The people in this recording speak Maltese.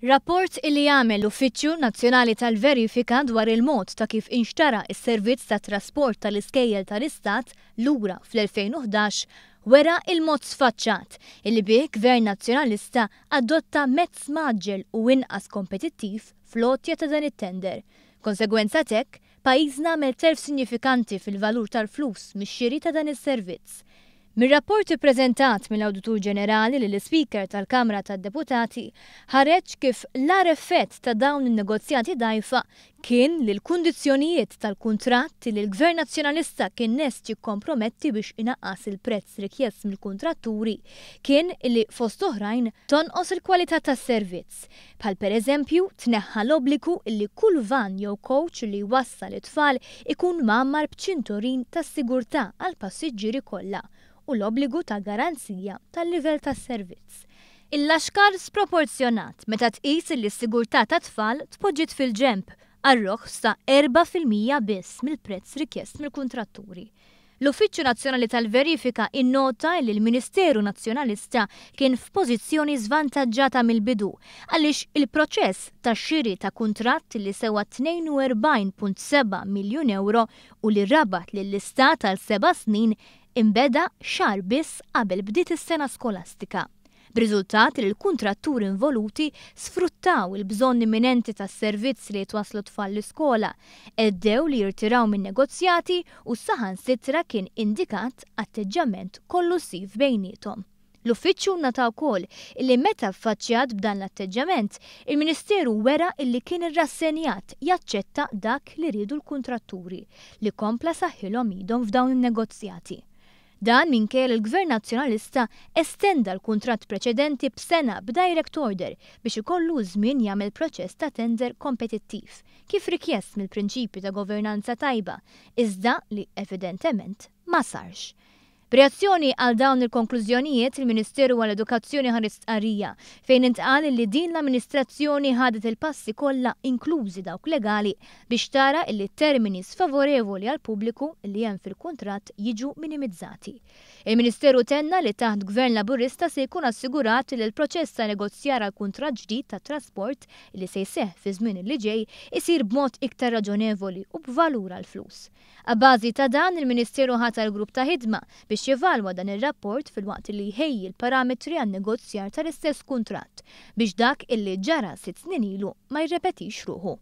Rapport illi għamel l-Uffiċċju Nazzjonali tal-Verifika dwar il-mod ta' kif inxtara s-servizz tat-trasport tal-iskejjel tal-Istat lura fl-2011 wera il-mod sfaċċat illi bih Gvern Nazzjonalista adotta mezz mgħaġġel u inqas kompetittiv fl-għotja ta' dan it-tender. Konsegwenza t'hekk, pajjiżna għamel telf sinjifikanti fil-valur tal-flus mix-xiri ta' dan is-servizz. Mir-rapport ippreżentat mill-Awditur Ġenerali lill-Ispeaker tal-Kamra tad-Deputati ħareġ kif l-agħar effett ta' dawn in-negozjati dgħajfa kien li l-kundizzjonijiet tal-kuntratt li l-Gvern Nazzjonalista kien lest jikkomprometti biex inaqqas il-prezz rikjest mill-kuntratturi kien li fost oħrajn tonqos il-kwalità tas-servizz bħal pereżempju tneħħa l-obbligu li kull vann jew kowċ li jwassal it-tfal ikun mgħammar b'ċinturin tas-sigurtà għall-passiġġieri kollha u l-obbligu ta' garanzija tal-livell tas-servizz. Il-laxkar sproporzjonat meta tqis li s-sigurtà tat-tfal tpoġġiet fil-ġenb għar-roħs ta' 4% biss mill-prezz rikjest mill-kuntratturi. L-Uffiċċju Nazzjonali tal-Verifika innota li l-Ministeru Nazzjonalista kien f'pożizzjoni żvantaġġata mill-bidu għaliex il-proċess ta' xiri ta' kuntratt li sewa 42.7 miljun ewro u li rabat lill-Istat għal seba' snin inbeda xahar biss qabel bdiet is-sena skolastika, b'riżultat li l-kuntratturi involuti sfruttaw il-bżonn imminenti tas-servizz li jitwasslu t-tfal l-iskola, għeddew li jirtiraw min-negozjati u saħansitra kien indikat atteġġjament kollussiv bejniethom. L-Uffiċċju nnota wkoll illi meta ffaċċjat b'dan l-atteġġjament, il-Ministeru wera illi kien irrassenjat jaċċetta dak li riedu l-kuntratturi, li kompla saħħilhom idhom f'dawn in-negozjati. Dan minkejja li l-Gvern Nazzjonalista estenda l-kuntratt preċedenti b'sena b'direct order biex ikollu ż-żmien jagħmel proċess ta' tender kompetittiv, kif rikjest mill-prinċipji ta' governanza tajba, iżda li evidentement ma sarx. B'reazzjoni għal dawn il-konklużjonijiet, il-Ministeru għall-Edukazzjoni ħareġ stqarrija fejn intqal li din l-amministrazzjoni ħadet il-passi kollha inklużi dawk legali biex tara illi t-termini sfavorevoli għall-pubbliku li hemm fil-kuntratt jiġu minimizzati. Il-Ministeru tenna li taħt Gvern Laburista se jkun assigurat li l-proċess ta' negozjar għal kuntratt ġdid tat-trasport li se jseħħ fi żmien li ġej isir b'mod iktar raġonevoli u b'valur għall-flus. Abbażi ta' dan, il-Ministeru ħatar grupp ta' ħidma biex jevalwa dan ir-rapport filwaqt li jħejji l-parametri għan-negozjar tal-istess kuntratt biex dak illi ġara 6 snin ilu ma jirrepetix ruħu.